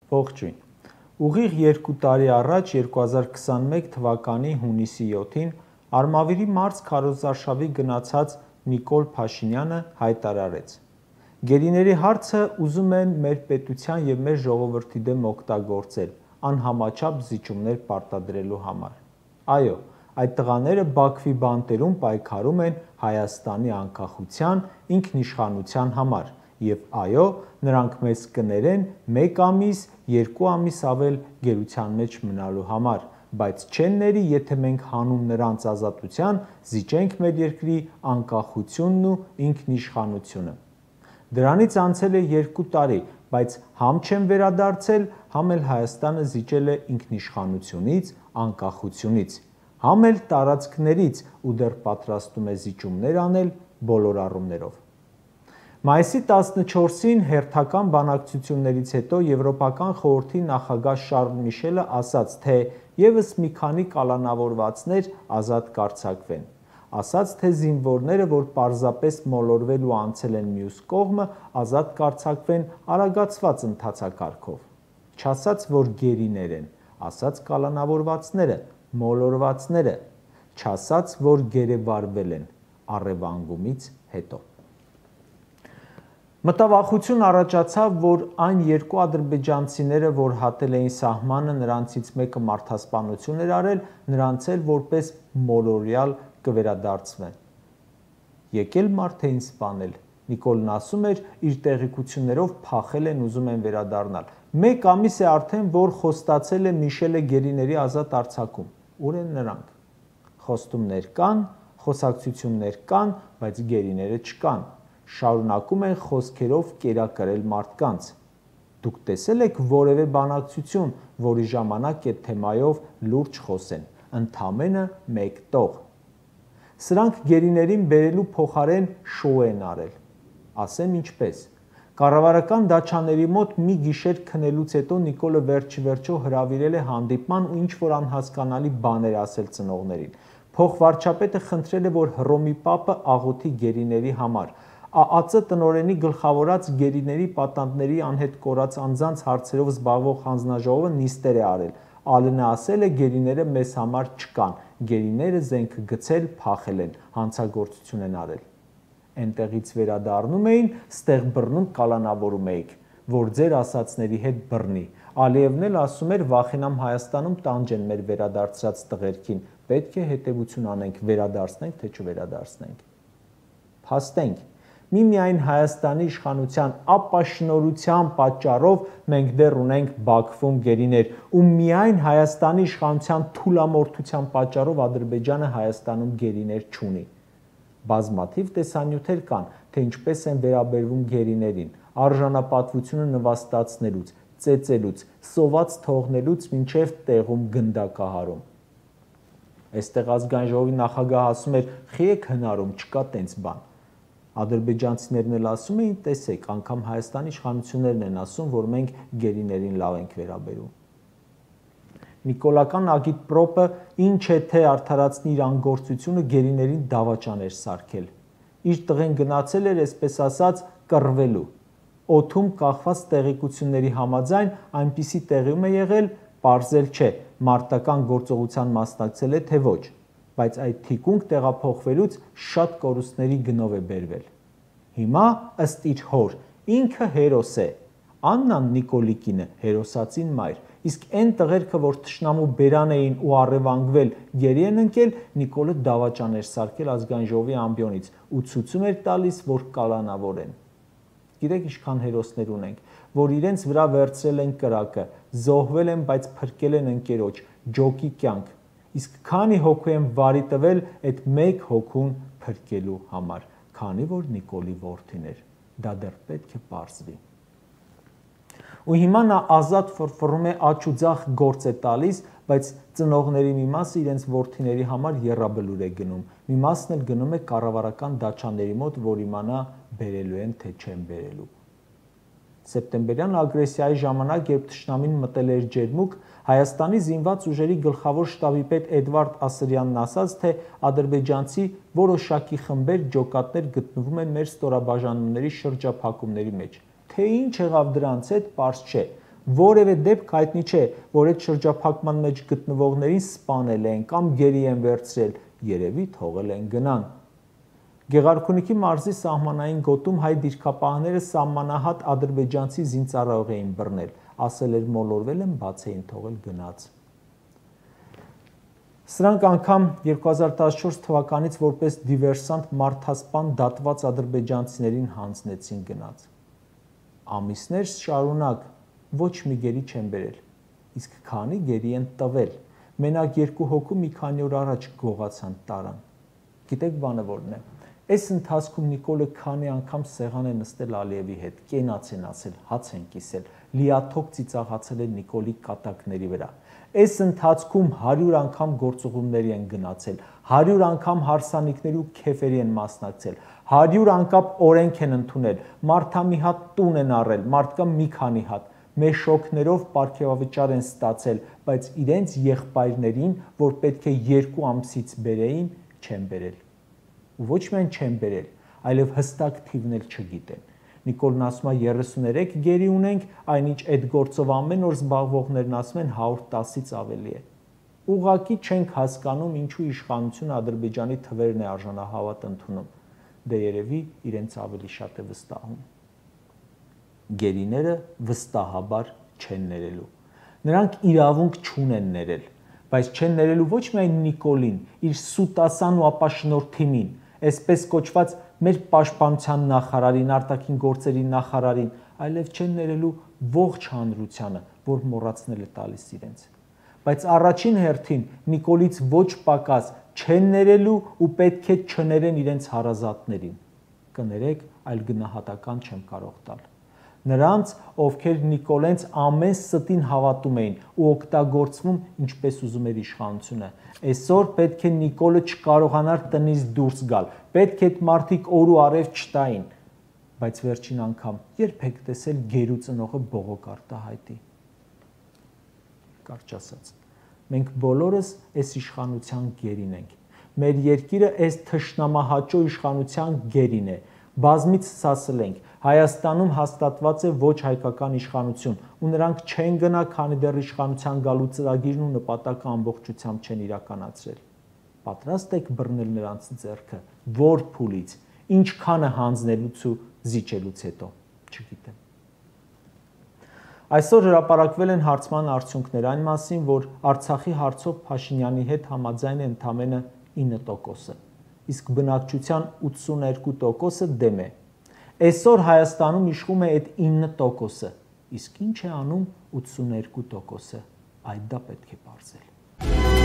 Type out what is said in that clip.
Ողջույն։ Ուղիղ 2 տարի առաջ 2021 թվականի հունիսի 7-ին Արմավիրի մարզ քարոզարշավի գնացած Նիկոլ Փաշինյանը հայտարարեց. «Գերիների հարցը ուզում են մեր պետության և մեր ժողովրդի դեմ օգտագործել անհամաչափ զիջումներ պարտադրելու համար։ Այո, այդ տղաները Բաքվի բանտերում պայքարում են Հայաստանի անկախության, ինքնիշխանության համար, և այո, նրանք մեզ կներեն 1 ամիս, 2 ամիս ավել գերության մեջ մնալու համար, բայց չեն ների, եթե մենք հանուն նրանց ազատության զիջենք մեր երկրի անկախությունն ու ինքնիշխանությունը։ Դրանից անցել է 2 տարի, բայց համ չեն վերադարձել, համ էլ Հայաստանը զիջել է ինքնիշխանությունից, անկախությունից, համ էլ տարածքներից ու դեռ պատրաստում է զիջումներ անել բոլոր առումներով»։ Մայիսի 14-ին հերթական բանակցություններից հետո Եվրոպական խորհրդի նախագահ Շարլ Միշելը ասաց, թե ևս մի քանի կալանավորվածներ ազատ կարձակվեն, ասաց, թե զինվորները, որ պարզապես մոլորվել ու անցել են մյուս կողմը, ազատ կարձակվեն արագացված ընթացակարգով, չասաց, որ գերիներ են, ասաց կալանավորվածները, մոլորվածները, չասաց, որ գերեվարվել են առևանգումից հետո։ Մտավախություն առաջացավ, որ այն 2 ադրբեջանցիները, որ հատել էին սահմանը, նրանցից մեկը մարդասպանություն էր արել, նրանց էլ որպես մոլորյալ կվերադարձվեն։ Եկել մարդ էին սպանել։ Նիկոլն ասում էր, իր տեղեկություններով փախել են, ուզում են վերադառնալ։ 1 ամիս է արդեն, որ խոստացել է Միշելը գերիների ազատ արձակում։ Ուր են նրանք։ Խոստումներ կան, խոսակցություններ կան, բայց գերիները չկան։ Շարունակում են խոսքերով կերակրել մարդկանց։ Դուք տեսել եք որևէ բանակցություն, որի ժամանակ այդ թեմայով լուրջ խոսեն, ընդամենը 1 տող։ Սրանք գերիներին բերելու փոխարեն շոու են արել։ Ասեմ ինչպես։ Կառավարական դաչաների մոտ մի գիշեր քնելուց հետո Նիկոլը վերջիվերջո հրավիրել է հանդիպման ու ինչ-որ անհասկանալի բաներ ասել ծնողներին։ Փոխվարչապետը խնդրել է, որ Հռոմի Պապը աղոթի գերիների համար։ ԱԱԾ տնօրենի գլխավորած գերիների պատանդների անհետ կորած անձանց հարցերով զբաղվող հանձնաժողովը նիստեր է արել։ ԱԼՆ ասել է գերիները մեզ համար չկան, գերիները զենքը գցել, փախել են, հանցագործություն են արել։ Էնտեղից վերադառնում էին, ստեղ բռնում կալանավորում էիք, որ ձեր ասածների հետ բռնի։ Ալիևն էլ ասում էր վախենամ Հայաստանում տանջեն մեր վերադարձրած տղերքին, պետք է հետևություն անենք, վերադարձնենք, թե չվերադարձնենք։ Փաստենք, միմիայն Հայաստանի իշխանության ապաշնորհության պատճառով մենք դեռ ունենք Բաքվում գերիներ, ու միայն Հայաստանի իշխանության թուլամորթության պատճառով Ադրբեջանը Հայաստանում գերիներ չունի։ Բազմաթիվ տեսանյութեր կան, թե ինչպես են վերաբերվում գերիներին, արժանապատվությունը նվաստացնելուց, ծեծելուց, սոված թողնելուց մինչև տեղում գնդակահարում։ Այստեղ ազգային ժողովի նախագահը ասում էր՝ «Խի եք հնարում, չկա տենց բան»։ Ադրբեջանցիներն էլ ասում էին, տեսեք, անգամ Հայաստանի իշխանություններն են ասում, որ մենք գերիներին լավ ենք վերաբերում։ Նիկոլական ագիտպրոպը ինչ է թե արդարացնի իր անգործությունը գերիներին դավաճան էր սարքել։ Իր տղեն գնացել էր, այսպես ասած, կռվելու։ Օդում կախված տեղեկությունների համաձայն այնպիսի տեղում է եղել, պարզել չէ, մարտական գործողության մասնակցել է թե ոչ, բայց այդ թիկունք տեղափոխվելուց շատ կորուստների գնով է բերվել։ Հիմա ըստ իր հոր, ինքը հերոս է, Աննան Նիկոլիկինը հերոսացին մայր, իսկ այն տղերքը, որ թշնամու բերան էին ու առևանգվել, գերի են ընկել, Նիկոլը դավաճան էր սարքել ազգային ժողովի ամբիոնից ու ցույցում էր տալիս, որ կալանավոր են։ Գիտեք ինչքան հերոսներ ունենք, որ իրենց վրա վերցրել են կրակը, զոհվել են, բայց փրկել են ընկերոջ, ջոկի կյանք, իսկ քանի հոգու են վարի տվել այդ 1 հոգուն փրկելու համար, քանի որ Նիկոլի որդին էր, դա դեռ պետք է պարզվի։ Ու հիմա նա ազատ ֆռֆռում է աջ ու ձախ գործ է տալիս, բայց ծնողների մի մասը իրենց որդիների համար եռաբլուր է գնում, մի մասն էլ գնում է կառավարական դաչաների մոտ, որ իմանա բերելու են, թե չեն բերելու։ Սեպտեմբերյան ագրեսիայի ժամանակ, երբ թշնամին մտել էր ջերմուկ, Հայաստանի զինված ուժերի գլխավոր շտաբի պետ Էդվարդ Ասրյանն ասաց, թե ադրբեջանցի որոշակի խմբեր ջոկատներ գտնվում են մեր ստորաբաժանումների շրջափակումների մեջ։ Թե ինչ եղավ դրանց հետ, պարզ չէ, որևէ դեպք հայտնի չէ, որ այդ շրջափակման մեջ գտնվողներին սպանել են կամ գերի են վերցրել, երևի թողել են գնան։ Գեղարքունիքի մարզի սահմանային գոտում հայ դիրքապահները սահմանահատ ադրբեջանցի զինծառայող էին բռնել, ասել էր մոլորվել են, բաց էին թողել գնաց։ Սրանք անգամ 2014 թվականից որպես դիվերսանտ մարդասպան դատված ադրբեջանցիներին հանձնեցին գնաց։ Ամիսներ շարունակ ոչ մի գերի չեն բերել, իսկ քանի գերի են տվել, մենակ 2 հոգու մի քանի օր առաջ գողացան տարան։ Գիտեք բանը որն է։ Այս ընթացքում Նիկոլը քանի անգամ սեղան է նստել Ալիևի հետ, կենաց են ասել, հաց են կիսել, լիաթոք ծիծաղացել են Նիկոլի կատակների վրա։ Այս ընթացքում 100 անգամ գործուղումների են գնացել, 100 անգամ հարսանիքների ու քեֆերի են մասնակցել, 100 անգամ օրենք են ընդունել, մարդա մի հատ տուն են առել, մարդկա մի քանի հատ, մեշոքներով պարգևավճար են ստացել, բայց իրենց եղբայրներին, որ պետք է 2 ամսից բերեին, չեն բերել։ Ու ոչ միայն չեն բերել, այլև հստակ թիվն էլ չգիտեն։ Նիկոլն ասում է 33 գերի ունենք, այնինչ այդ գործով ամեն օր զբաղվողներն ասում են 110-ից ավելի է։ Ուղղակի չենք հասկանում, ինչու իշխանությունը Ադրբեջանի թվերն է արժանահավատ ընդունում։ Դե երևի իրենց ավելի շատ է վստահում։ Գերիները վստահաբար չեն ներելու։ Նրանք իրավունք չունեն ներել, բայց չեն ներելու ոչ միայն Նիկոլին, իր սուտասան ու ապաշնորհ թիմին, այսպես կոչված մեր պաշտպանության նախարարին, արտաքին գործերի նախարարին, այլև չեն ներելու ողջ հանրությանը, որ մոռացնել է տալիս իրենց։ Բայց առաջին հերթին Նիկոլից ոչ պակաս չեն ներելու ու պետք է չներեն իրենց հարազատներին։ Կներեք, այլ գնահատական չեմ կարող տալ։ Նրանց, ովքեր Նիկոլենց ամեն ստին հավատում էին ու օգտագործվում ինչպես ուզում էր իշխանությունը։ Այսօր պետք է Նիկոլը չկարողանար տնից դուրս գալ, պետք է այդ մարդիկ օր ու արև չտային, բայց վերջին անգամ երբ եք տեսել գերու ծնողը բողոք արտահայտի։ Կարճ ասած, մենք բոլորս այս իշխանության գերին ենք։ Մեր երկիրը այս թշնամահաճո իշխանության գերին է։ Բազմիցս ասել ենք, Հայաստանում հաստատված է ոչ հայկական իշխանություն, ու նրանք չեն գնա, քանի դեռ իշխանության գալու ծրագիրն ու նպատակը ամբողջությամբ չեն իրականացրել։ Պատրաստ եք բռնել նրանց ձեռքը, որ փուլից, ինչքանը հանձնելուց ու զիջելուց հետո, չգիտեմ։ Այսօր հրապարակվել են հարցման արդյունքներ այն մասին, որ Արցախի հարցով Փաշինյանի հետ համաձայն է ընդամենը 9%, իսկ բնակչության 82%-ը դեմ է։ Այսօր Հայաստանում իշխում է այդ 9%-ը, իսկ ինչ է անում 82%-ը, այդ դա պետք է պարզել։